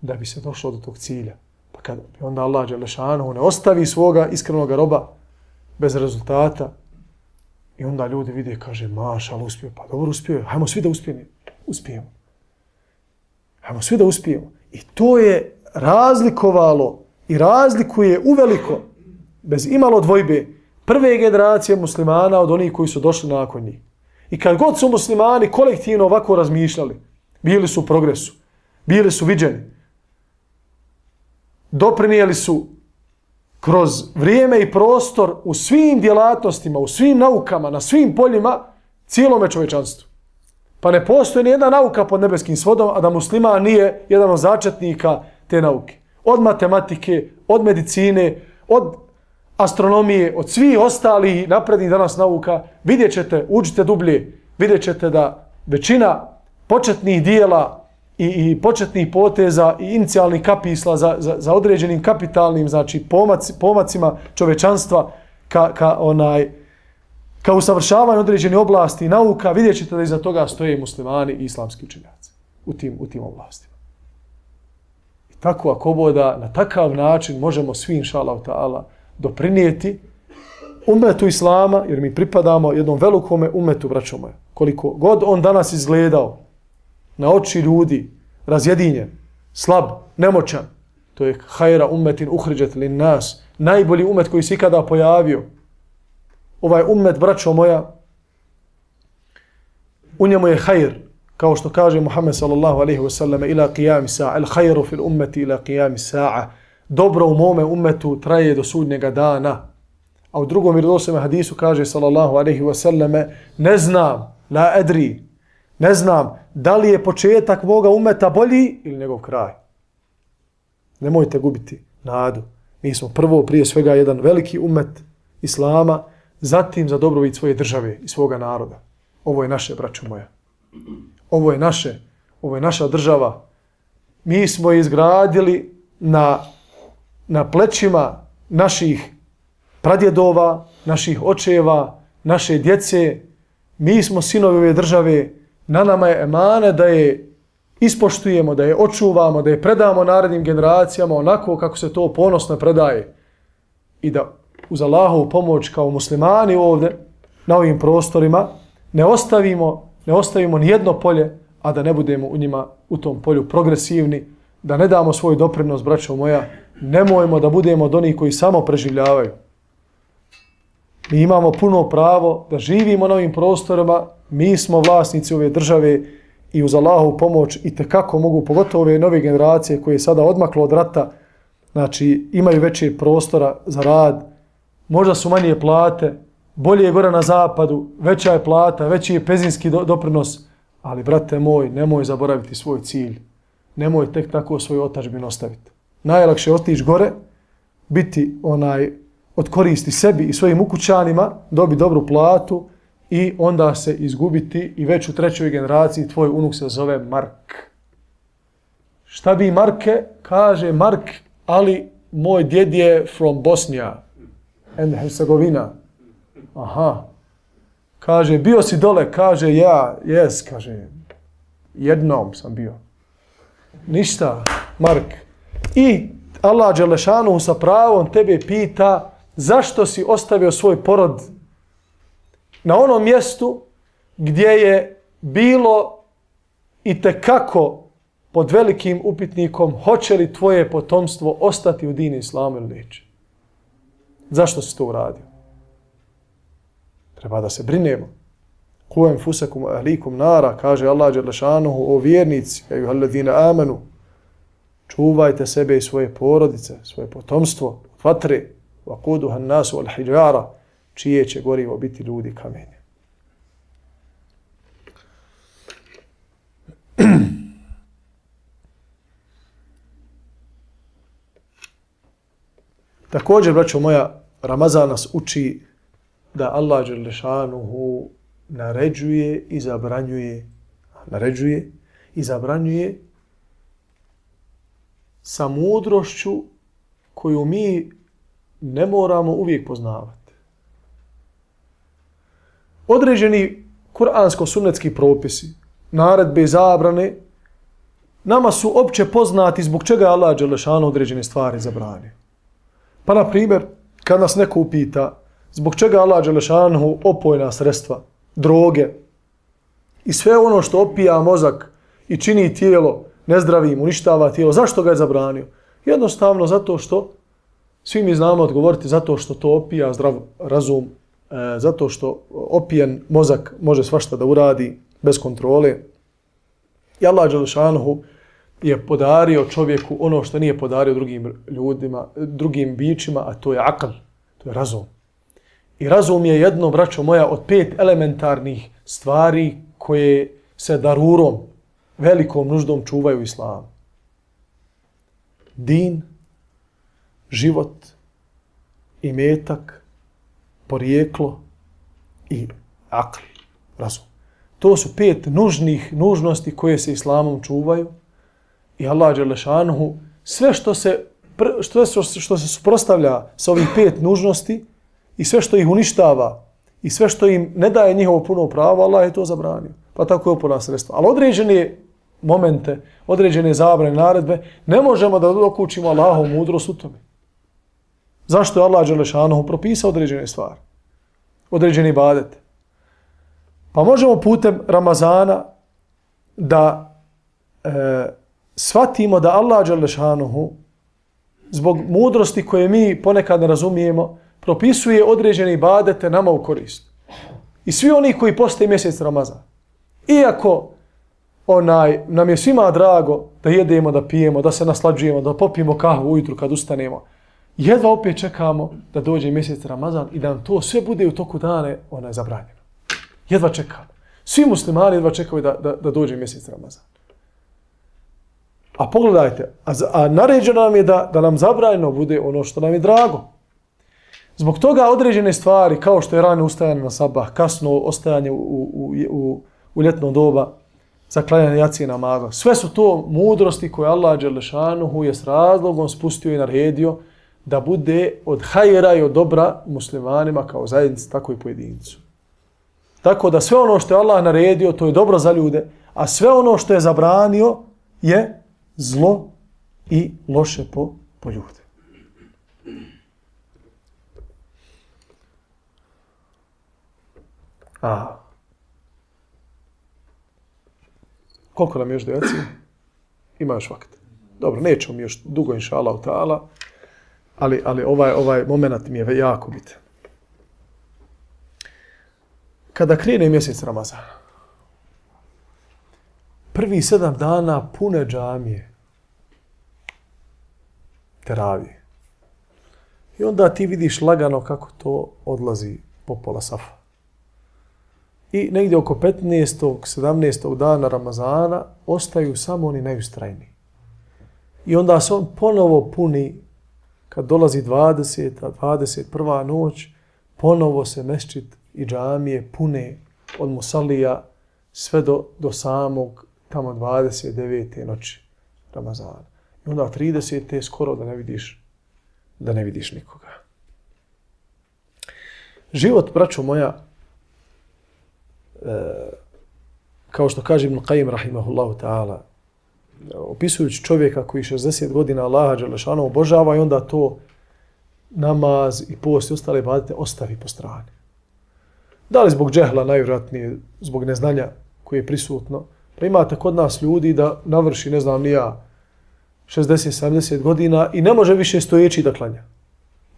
[SPEAKER 2] da bi se došlo do tog cilja. Pa kad onda Allah dželešanu ne ostavi svoga iskrenog roba bez rezultata i onda ljudi vide, kaže, mašal, uspio. Pa dobro, uspio je. Hajmo svi da uspijemo. Hajmo svi da uspijemo. I to je razlikovalo i razlikuje uveliko, bez imalo dvojbe, prve generacije muslimana od onih koji su došli nakon njih. I kad god su muslimani kolektivno ovako razmišljali, bili su u progresu, bili su viđeni, doprinijeli su kroz vrijeme i prostor u svim djelatnostima, u svim naukama, na svim poljima, cijelome čovječanstvu. Pa ne postoji nijedna nauka pod nebeskim svodom, a da musliman nije jedan od začetnika te nauke. Od matematike, od medicine, od astronomije, od svih ostalih naprednih danas nauka, vidjet ćete, učite dublje, vidjet ćete da većina početnih dijela i početnih poteza i inicijalnih kapisla za određenim kapitalnim, znači pomacima čovečanstva ka usavršavanju određenih oblasti i nauka, vidjet ćete da iza toga stoje muslimani i islamski učenjaci u tim oblastima. I tako ako boda na takav način možemo svi, inšallahu ta'ala, doprinijeti umetu islama, jer mi pripadamo jednom velikome umetu, braćo moje. Koliko god on danas izgledao na oči ljudi, razjedinjen, slab, nemoćan, to je hajra umetin uhriđet lin nas, najbolji umet koji se ikada pojavio. Ovaj umet, braćo moja, u njemu je hajr, kao što kaže Muhammed sallallahu alaihi wasallam, ila qiyami sa'a, el hajru fil umeti ila qiyami sa'a, dobro u mome umetu traje do sudnjega dana. A u drugom vjerodostojnom hadisu kaže sallallahu alejhi ve selleme, ne znam, la adri, ne znam da li je početak moga umeta bolji ili njegov kraj. Nemojte gubiti nadu. Mi smo prvo prije svega jedan veliki umet islama, zatim za dobrobit svoje države i svoga naroda. Ovo je naše, braćo moja. Ovo je naša država. Mi smo izgradili na plećima naših pradjedova, naših očeva, naše djece. Mi smo sinovi ove države. Na nama je emane da je ispoštujemo, da je očuvamo, da je predamo narednim generacijama onako kako se to ponosno predaje. I da uz Allahovu pomoć kao muslimani ovdje, na ovim prostorima, ne ostavimo nijedno polje, a da ne budemo u njima, u tom polju progresivni, da ne damo svoj doprinos, braćo moja, nemojmo da budemo od onih koji samo preživljavaju. Mi imamo puno pravo da živimo na ovim prostorima, mi smo vlasnici ove države i uz Allahovu pomoć i tekako mogu, pogotovo ove nove generacije koje je sada odmaklo od rata, znači imaju veće prostora za rad, možda su manje plate, bolje je gore na zapadu, veća je plata, veći je penzijski doprinos, ali brate moj, nemoj zaboraviti svoj cilj. Nemoj tek tako svoju otadžbinu ostaviti. Najlakše je otići gore, biti od koristi sebi i svojim ukućanima, dobiti dobru platu i onda se izgubiti i već u trećoj generaciji tvoj unuk se zove Mark. Šta bi Marke? Kaže Mark, ali moj djed je from Bosnia and Hercegovina. Aha. Kaže, bio si dole? Kaže, ja, yes, kaže, jednom sam bio. Ništa, Mark. I Allah dželešanu sa pravom tebe pita zašto si ostavio svoj porod na onom mjestu gdje je bilo itekako pod velikim upitnikom hoće li tvoje potomstvo ostati u dini islamu ili neće. Zašto si to uradio? Treba da se brinemo. Ku enfusakum ahlikum nara, kaže Allah dželešanuhu, o vjernici, ejuhalladina amanu, čuvajte sebe i svoje porodice, svoje potomstvo od vatre, vaquduha an-nasu wal hijara, čije će gorivo biti ljudi kamenje. Također, braćo moja, Ramazan nas uči da Allah dželešanuhu naređuje i zabranjuje sa mudrošću koju mi ne moramo uvijek poznavati. Određeni kuransko-sunnetski propisi, naredbe i zabrane, nama su opće poznati zbog čega je Allah dželešanu određene stvari zabranio. Pa, na primjer, kad nas neko upita zbog čega Allah dželešanu opojna sredstva, droge i sve ono što opija mozak i čini tijelo nezdravim, uništava tijelo, zašto ga je zabranio? Jednostavno zato što, svi mi znamo odgovoriti, zato što to opija zdrav razum, zato što opijen mozak može svašta da uradi bez kontrole. I Allah dželešanu je podario čovjeku ono što nije podario drugim ljudima, drugim bićima, a to je akl, to je razum. I razum je jedno, braćo moja, od 5 elementarnih stvari koje se darurom, velikom nuždom čuvaju u islamu. Din, život, imetak, porijeklo i akl, razum. To su 5 nužnosti koje se islamom čuvaju i Allah dželešanuhu sve što se suprotstavlja sa ovih 5 nužnosti i sve što ih uništava i sve što im ne daje njihovo puno pravo, Allah je to zabranio. Pa tako je opojna sredstva. Ali određene momente, određene zabrane, naredbe, ne možemo da dokučimo Allahovu mudrost u tome. Zašto je Allah dželešanuhu propisao određene stvari? Određene ibadete. Pa možemo putem Ramazana da shvatimo da Allah dželešanuhu zbog mudrosti koje mi ponekad ne razumijemo, propisuje određene ibadete nama u korist. I svi oni koji poste mjesec Ramazan. Iako nam je svima drago da jedemo, da pijemo, da se naslađujemo, da popijemo kahvu ujutru kad ustanemo, jedva opet čekamo da dođe mjesec Ramazan i da nam to sve bude u toku dane zabranjeno. Jedva čekamo. Svi muslimani jedva čekaju da dođe mjesec Ramazan. A pogledajte, a naređeno nam je da nam zabranjeno bude ono što nam je drago. Zbog toga određene stvari, kao što je rano ustajanje na sabah, kasno ostajanje u ljetno doba, zaklanjanje jacije namaza, sve su to mudrosti koje Allah dželešanuhu je s razlogom spustio i naredio da bude od hajera i od dobra muslimanima kao zajednici, tako i pojedincu. Tako da sve ono što je Allah naredio, to je dobro za ljude, a sve ono što je zabranio je zlo i loše po ljude. Koliko nam je još do jacije? Ima još vakt. Dobro, nećemo mi još dugo, inša Allah ta'ala, ali ovaj moment mi je jako bitan. Kada krene mjesec Ramazana, prvi 7 dana pune džamije, teravije. I onda ti vidiš lagano kako to odlazi po pola safa. I negdje oko 15. 17. dana Ramazana ostaju samo oni najustrajniji. I onda se on ponovo puni, kad dolazi 20. 21. noć, ponovo se mesdžid i džamije pune od musallija sve do samog tamo 29. noći Ramazana. I onda 30. skoro da ne vidiš nikoga. Život, braćo moja, kao što kaže Ibn Qayyim rahimahullahu ta'ala, opisujući čovjeka koji 60 godina Allaha dželešanu obožava i onda to namaz i post i ostale ibadete ostavi po strani. Da li zbog džehla, najvjerojatnije zbog neznanja koje je prisutno, pa imate kod nas ljudi da navrši, ne znam ni ja, 60-70 godina i ne može više stojeći da klanja.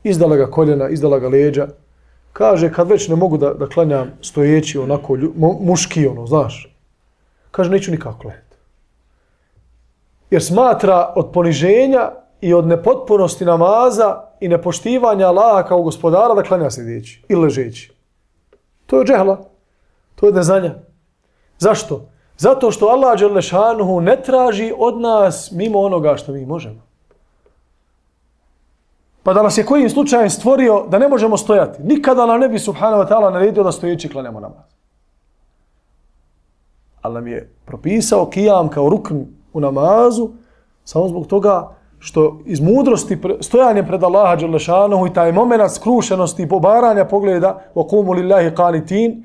[SPEAKER 2] Izdala ga koljena, izdala ga leđa. Kaže, kad već ne mogu da klanjam stojeći onako muški, znaš. Kaže, neću nikako klanjati. Jer smatra od poniženja i od nepotpunosti namaza i nepoštivanja Allaha kao gospodara da klanja sjedeći ili ležeći. To je džehla. To je neznanja. Zašto? Zato što Allah dželešanuhu ne traži od nas mimo onoga što mi možemo. Pa da nas je kojim slučajem stvorio da ne možemo stojati. Nikada nam ne bi subhanahu wa ta'ala naredio da stojeći klanjamo namaz. Ali nam je propisao kijam kao rukn u namazu samo zbog toga što iz mudrosti stojanjem pred Allaha dželle šanehu i taj momenat skrušenosti i pobaranja pogleda wa qumu lillahi qanitin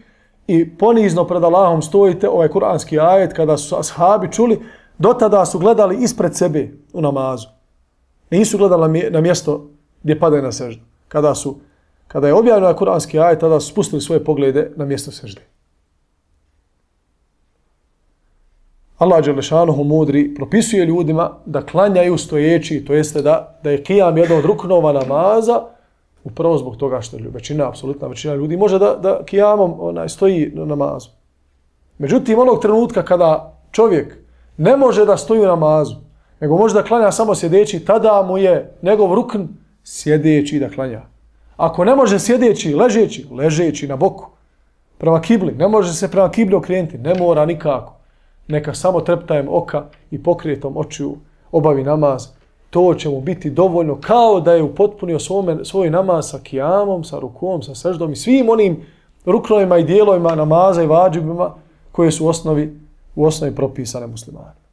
[SPEAKER 2] i ponizno pred Allahom stojite, ovaj kuranski ajet kada su ashabi čuli, do tada su gledali ispred sebe u namazu. Nisu gledali na mjesto gdje padaju na seždu. Kada je objavljeno kuranski ajet, tada su spustili svoje poglede na mjesto sežde. Allah dželle šanehu mudri propisuje ljudima da klanjaju stojeći, to jeste da je kijam jedan od ruknova namaza, upravo zbog toga što apsolutna većina ljudi može da kijamom stoji na namazu. Međutim, onog trenutka kada čovjek ne može da stoji u namazu, nego može da klanja samo sjedeći, tada mu je njegov rukn sjedeći da klanja. Ako ne može sjedeći, ležeći na boku, prema kibli, ne može se prema kibli okrenuti, ne mora nikako. Neka samo treptajem oka i pokretom očiju obavi namaz. To će mu biti dovoljno kao da je upotpunio svoj namaz sa kijamom, sa rukom, sa seždom i svim onim ruknovima i dijelovima namaza i vađibima koje su u osnovi propisane muslimanima.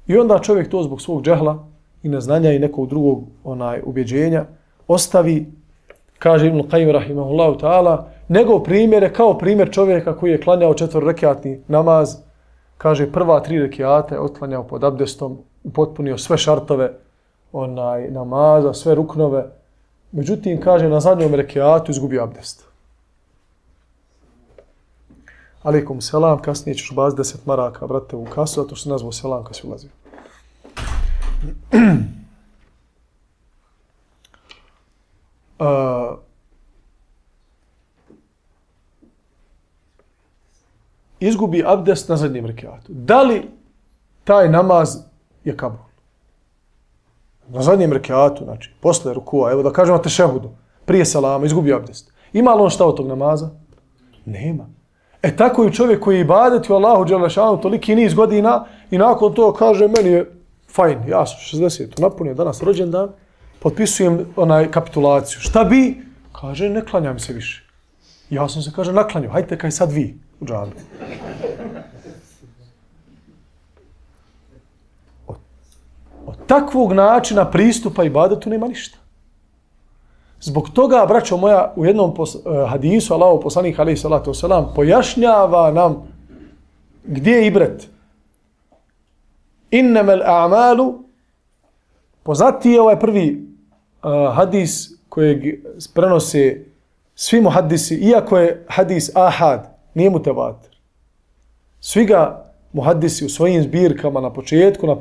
[SPEAKER 2] I onda čovjek to zbog svog džehla i neznanja i nekog drugog ubjeđenja ostavi, kaže Ibn Qayyim rahimahullahu ta'ala, njegov primjer je kao primjer čovjeka koji je klanjao 4-rekatni namaz. Kaže, prva 3 rekijata je otklanjao pod abdestom, upotpunio sve šartove namaza, sve ruknove. Međutim, kaže, na zadnjom rekijatu izgubio abdest. Alejkum selam, kasnije ćeš baziti 10 maraka, brate, u kasu, zato što se nazvao selam kad si ulazio. Izgubi abdest na zadnjem rekatu. Da li taj namaz je kabul? Na zadnjem rekatu, znači, posle rukua, evo da kažemo tešehudu, prije salama, izgubi abdest. Ima li on šta od tog namaza? Nema. Tako i čovjek koji ibadeti u Allahu dželle šanehu toliki niz godina i nakon toga kaže, meni je fajn, ja sam 60, napunio danas rođendan, potpisujem kapitulaciju. Šta bi? Kaže, ne klanjam se više. Ja sam se, kaže, naklanjao, hajte kaj sad vi u džami. Od takvog načina pristupa ibadetu nema ništa. Zbog toga, braćo moja, u jednom hadisu Allahov poslanik alejhi salatu vesselam pojašnjava nam gdje je ibret. Innamal a'malu, poznati je ovaj prvi hadis kojeg prenose svi muhaddisi, iako je hadis ahad, nije mutevatir. Svi ga muhaddisi u svojim zbirkama na početku, na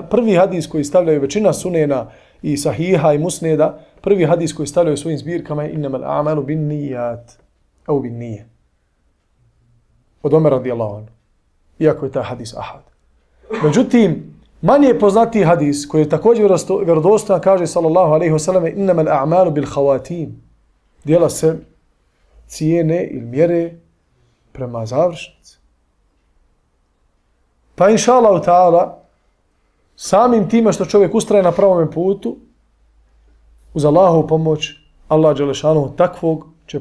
[SPEAKER 2] prvi hadis koji stavljaju većina sunena i sahiha i musneda, prvi hadis koji stavljaju u svojim zbirkama je innamal a'malu bin nijat, au bin nije. Od Omer radijallahu anhu. Iako je taj hadis ahad. Međutim, manje poznati hadis koji je također vjerodostojan, kaže sallallahu alejhi ve sellem, innamal a'malu bil khawatim. Djela se cijene ili mjere prema završnici. Pa inša Allahu ta'ala, samim time što čovjek ustraje na pravom putu, uz Allahovu pomoć, Allah dželle šanehu takvog će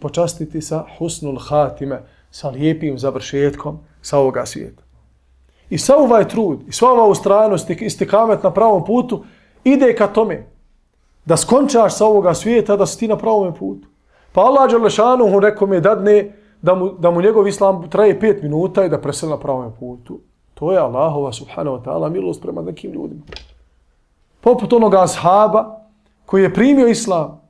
[SPEAKER 2] počastiti sa husnul hatime, sa lijepim završetkom sa ovoga svijeta. I sav ovaj trud, i sva ova ustrajnost i istikamet na pravom putu ide ka tome da skončaš sa ovoga svijeta, da si ti na pravom putu. Pa Allah dželle šanehu nekome dadne da mu njegov islam traje 5 minuta i da preseli na pravom putu. To je Allahova subhanahu wa ta'ala milost prema nekim ljudima. Poput onoga ashaba koji je primio islam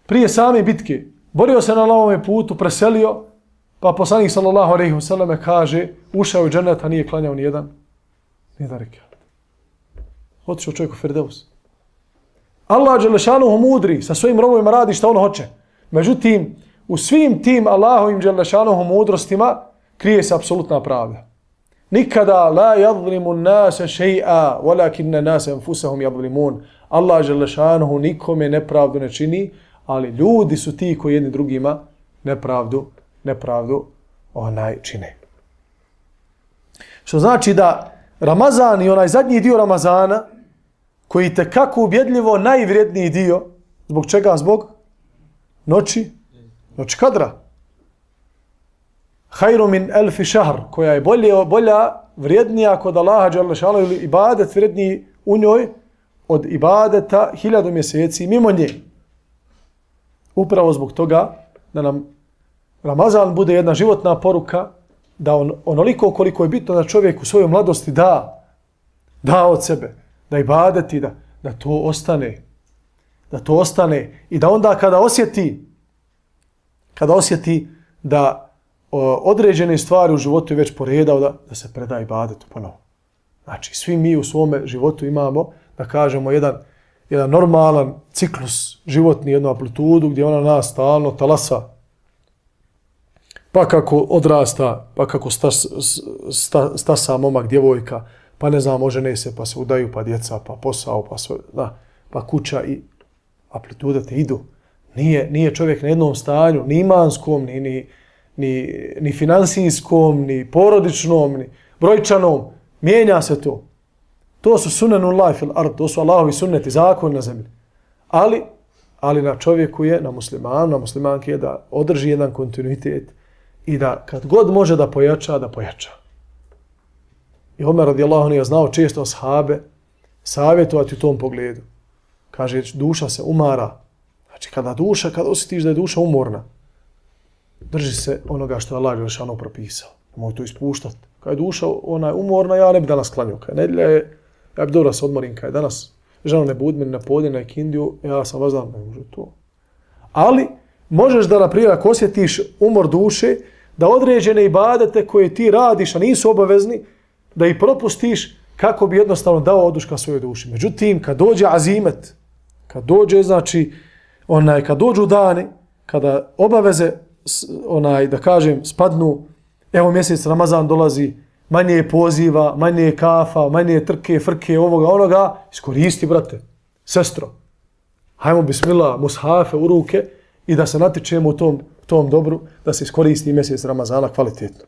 [SPEAKER 2] prije same bitke, borio se na Allahovom putu, preselio, pa poslanik sallallahu alejhi ve selleme kaže, ušao u džennet, a nije klanjao ni jedan rekat. Otišao čovjek u Firdevs. Allah dželle šanehu mudri, sa svojim robovima radi šta on hoće. Međutim, u svim tim Allahovim dželle šanehu mudrostima krije se apsolutna pravda. Nikada la yadhlimu an-nasa shay'a, walakinna an-nasa anfusahum yadhlimun. Allah dželle šanehu nikome nepravdu ne čini, ali ljudi su ti koji jedni drugima nepravdu čine. Što znači da Ramazan i onaj zadnji dio Ramazana, koji te kako ubjedljivo najvrijedniji dio, zbog čega? Zbog noći kadra. Khairu min alfi shahr, koja je bolja, vrijednija kod Allaha dželle šanehu, ili ibadet vrijedniji u njoj od ibadeta 1000 mjeseci mimo nje. Upravo zbog toga da nam Ramazan bude jedna životna poruka, da onoliko koliko je bitno da čovjek u svojoj mladosti da od sebe, da ibadeti, da to ostane. Da to ostane i da onda kada osjeti da određene stvari u životu je već poredao, da se preda ibadetu ponovo. Znači, svi mi u svome životu imamo, da kažemo, jedan normalan ciklus životni, jednu amplitudu gdje ona nas stalno talasa. Pa kako odrasta, pa kako stasa momak, djevojka, pa ne znam, ožene se, pa se udaju, pa djeca, pa posao, pa kuća i amplitude te idu. Nije čovjek na jednom stanju, ni imanskom, ni finansijskom, ni porodičnom, ni brojčanom. Mijenja se to. To su sunanullah fil ard, to su Allahovi sunneti, zakon na zemlji. Ali na čovjeku je, na muslimanu, na muslimanki je da održi jedan kontinuitet i da kad god može da pojača, da pojača. I Omer radijallahu anhu je znao često ashabe savjetovati u tom pogledu. Kaže, duša se umara. Znači, kada osjetiš da je duša umorna, drži se onoga što je Allah Đelešanu propisao. Nemoj to ispuštati. Kada je duša umorna, ja ne bi danas klanio. Kada nedjelja je, ja bi dobro se odmorim. Kada je danas žena ne budi meni na podne, na ikindiju, ja sam vas znam, ne može to. Ali, možeš da, naprijed, ako osjetiš umor duše, da određene ibadete koje ti radiš, a nisu obavezni, da ih propustiš kako bi jednostavno dao oduška svojoj duši. Međutim, kad dođe azimet, kad dođe, znači, kad dođu dani, kada obaveze, da kažem, spadnu, evo mjesec Ramazan dolazi, manje je poziva, manje je kafa, manje je trke, frke, ovoga, onoga, iskoristi, brate, sestro. Hajmo, bismillah, mushafe u ruke i da se natičemo u tom dobru, da se iskoristi mjesec Ramazana kvalitetno.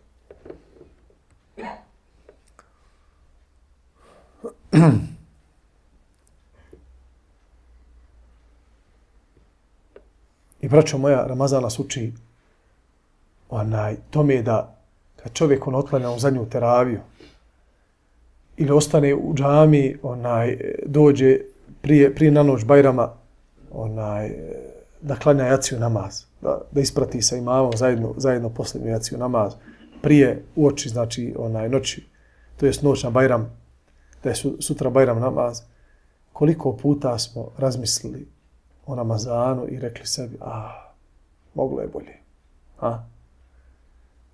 [SPEAKER 2] I braćo moja, Ramazan nas uči tome je da kad čovjek otklanja u zadnju teraviju ili ostane u džami, dođe prije na noć Bajrama, da klanja jaciju namaz, da isprati sa imamom zajedno posljednju jaciju namaz, prije uoči, znači noći, to jest noć na Bajram, da je sutra Bajram namaz. Koliko puta smo razmislili o Ramazanu i rekli sebi, moglo je bolje.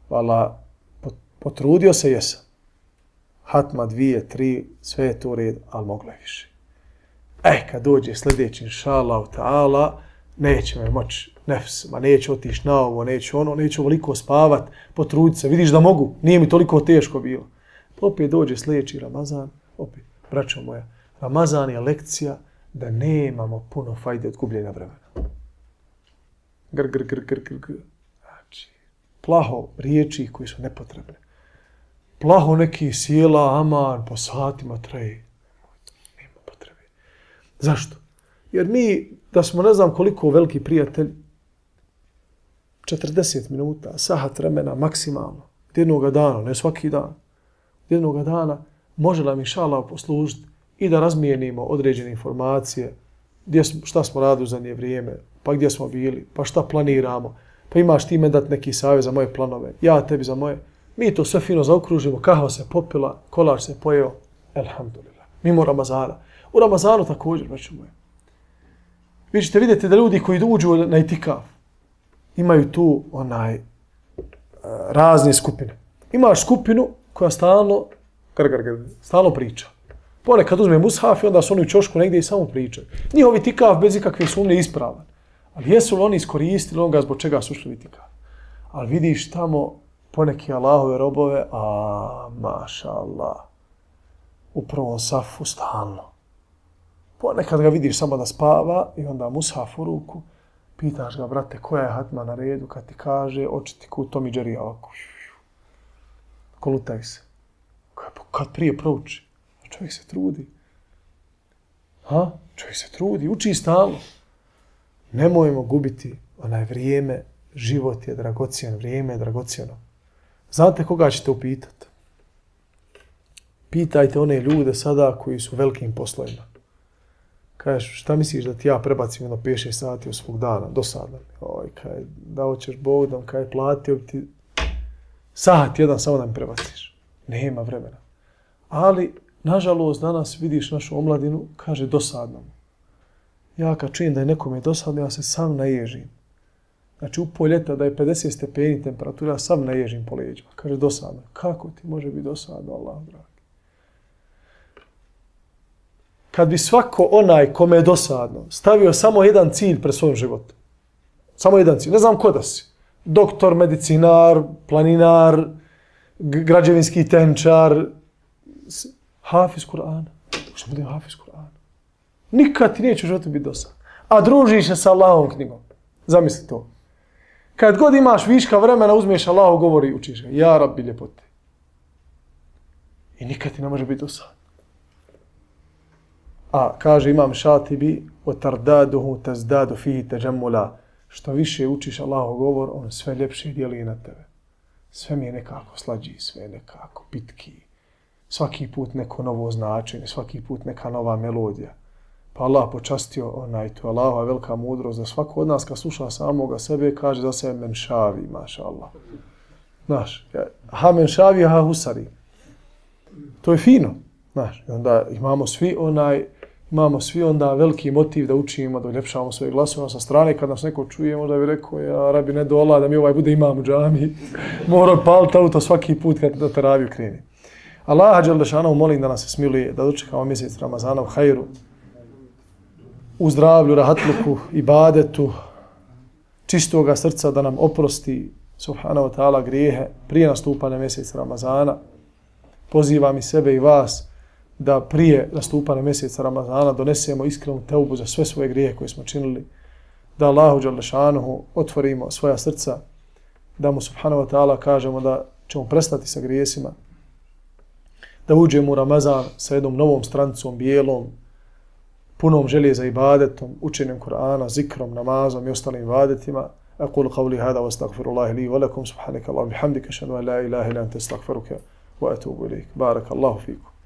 [SPEAKER 2] Vala, potrudio se jesam. Hatma 2, 3, sve je to u redu, ali moglo je više. Kad dođe sljedeći, inšallahu ta'ala, neće me moći nefs, neće otići na ovo, neće ovoliko spavat, potruditi se, vidiš da mogu, nije mi toliko teško bilo. Opet dođe sljedeći Ramazan, opet, braćo moja, Ramazan je lekcija da nemamo puno fajde od gubljenja vremena. Znači, plaho riječi koji su nepotrebne. Plaho neki sjela, aman, po satima traje. Nema potrebe. Zašto? Jer mi, da smo ne znam koliko veliki prijatelj, 40 minuta, sahat vremena maksimalno, jednog dana, ne svaki dan, jednog dana može nam inšallah poslužiti i da razmijenimo određene informacije, šta smo radili u zadnje vrijeme, pa gdje smo bili, pa šta planiramo, pa imaš ti meni dati neki savjet za moje planove, ja tebi za moje. Mi to sve fino zaokružimo, kahva se popila, kolač se pojeo, elhamdulillah. Mimo Ramazana. U Ramazanu također, braćo moje. Vi ćete vidjeti da ljudi koji uđu na itikaf imaju tu razne skupine. Imaš skupinu koja stalno priča. Ponekad uzme mushaf i onda su oni u ćošku negdje i samo pričaju. Njihov itikaf bez ikakve sumnje ispravan. Ali jesu li oni iskoristili onoga zbog čega su ušli u itikaf? Ali vidiš tamo poneki Allahove robove, maša Allah, u prvom safu stalno. Ponekad ga vidiš samo da spava i onda mushaf u ruku, pitaš ga, brate, koja je hatma na redu, kad ti kaže, oči ti kut Tom i Jerry, ovako, kolutaj se. Kad prije prouči, čovjek se trudi. Čovjek se trudi, uči stalno. Nemojmo gubiti vrijeme, život je dragocijen, vrijeme je dragocjeno. Znate koga ćete upitati? Pitajte one ljude sada koji su velikim poslovima. Kažeš, šta misliš da ti ja prebacim jedno 5-6 sati od svog dana, dosadno? Oj, kaj, da hoćeš Bog da kaj platio bi ti sat jedan samo da mi prebaciš. Nema vremena. Ali, nažalost, danas vidiš našu omladinu, kaže dosadno. Ja kad čujem da je nekome dosadno, ja se sam naježim. Znači, u pol ljeta da je 50 stepeni temperatura, ja sam naježim po leđima. Kaže dosadno. Kako ti može biti dosadno, Allah dragi? Kad bi svako onaj kome je dosadno stavio samo jedan cilj pred svojom životom. Samo jedan cilj. Ne znam ko da si. Doktor, medicinar, planinar, građevinski tehničar, hafiz Kur'ana. Što bude hafiz Kur'ana? Nikad ti neće u životu biti dosadno. A družiš se sa Allahovom knjigom. Zamisli to. Kad god imaš viška vremena, uzmeš Allahov govor i učiš ga. Ja Rabbi ljepote. I nikad ti ne može biti dosadno. A kaže Imam Šatibi وَتَرْدَادُهُ تَزْدَادُ فِيهِ تَجَمُّلَا. Što više učiš Allahov govor, on sve ljepše dijeli na tebe. Sve mi je nekako slađi, sve je nekako pitki. Svaki put neko novo značenje, svaki put neka nova melodija. Pa Allah počastio onaj, to je Allahova velika mudrost, da svako od nas kad sluša samoga sebe kaže za sebe men šavi, maša Allah. Znaš, ha men šavi, ha husari. To je fino. Znaš, i onda imamo svi onda veliki motiv da učimo, da uljepšavamo svoje glasove sa strane. Kad nas neko čuje, možda bi rekao, ja Rabi ne dola da mi ovaj bude imam u džami. Mora paliti auto svaki put kad na teraviju kreni. Allaha dželle šanehu molim da nas se smiluje, da dočekamo mjesec Ramazana u hajru, u zdravlju, rahatluku, ibadetu, čistoga srca, da nam oprosti subhanahu wa ta'ala grijehe prije nastupanja mjeseca Ramazana. Pozivam i sebe i vas da prije nastupanja mjeseca Ramazana donesemo iskrenu teubu za sve svoje grijehe koje smo činili, da Allahu dželle šanehu otvorimo svoja srca, da mu subhanahu wa ta'ala kažemo da ćemo prestati sa grijesima, da uđemo u Ramazan sa jednom novom stranicom, bijelom, punom želje za ibadetom, učenjem Kur'ana, zikrom, namazom i ostalim ibadetima. Aqulu qawli hada wa astaghfirullahi li wa lakum subhanaka Allahumma bihamdika ashhadu an la ilaha illa anta astaghfiruka wa atubu ilayk. Barakallahu fikum.